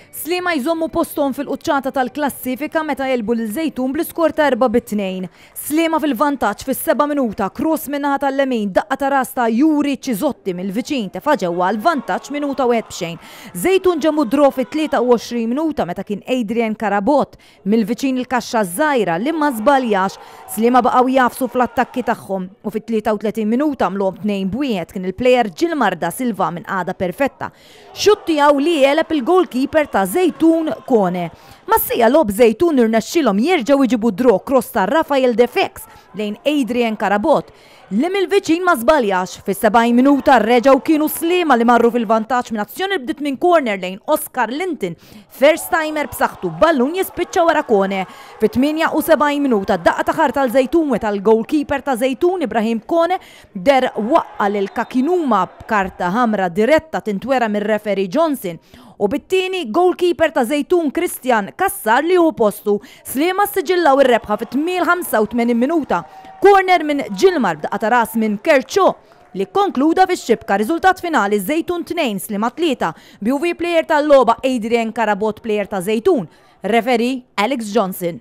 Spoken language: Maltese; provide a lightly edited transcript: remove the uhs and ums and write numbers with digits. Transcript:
Sliema jżommu posthom fil-quċċata tal-klassifika meta għelbu lil Żejtun bl-iskor ta' 4-2. Sliema fil-vantaġġ fis-seba' minuta, cross min-naħa tal-lemin, daqqa ta' ras ta' Yuri Cisotti mill-viċin tefa' ġewwa għall-vantaġġ minuta wieħed b'xejn. Żejtun ġemmu d-draw fit-23 minuta meta kien Adrian Carabott mill-viċin il-kaxxa ż-żgħira li ma żbaljax. Sliema baqgħu jagħfsu fl-attakki tagħhom u fit-33 minuta għamluhom 2-1 kien il-plejer Gilmar Da Silva minn qagħda perfetta Xutt tiegħu li għeleb il-goalkeeper ta' Żejtun Kone. Mas-siegħa logħob Żejtun irnexxielhom jerġgħu jġibu draw cross ta' Rafael Defex lejn Adrian Carabott li mill-viċin ma żbaljax. Fis-70 minuta reġgħu kienu Sliema li marru fil-vantaġġ minn azzjoni li bdiet minn corner lejn Oscar Linton, first timer b'saħħtu b'ballun jispiċċa wara Kone. Fit-78 minuta daqqa ta' ħarta għal Żejtun meta l-goalkeeper ta' Żejtun Ibrahim Kone Deher waqqa' lil Kakinuma b'karta ħamra diretta tintwera mir-referee Johnson u bit-tieni goalkeeper ta' Żejtun Christian Cassar li jieħu postu. Sliema ssiġillaw ir-rebħa fit-85 minuta. Corner minn Gilmar b'daqqa ta' ras minn Kercho li kkonkluda fix-xibka. Riżultat finali Żejtun 2, Sliema 3, b'UV player tal-logħba Adrian Carabott player ta' Żejtun, referee Alex Johnson.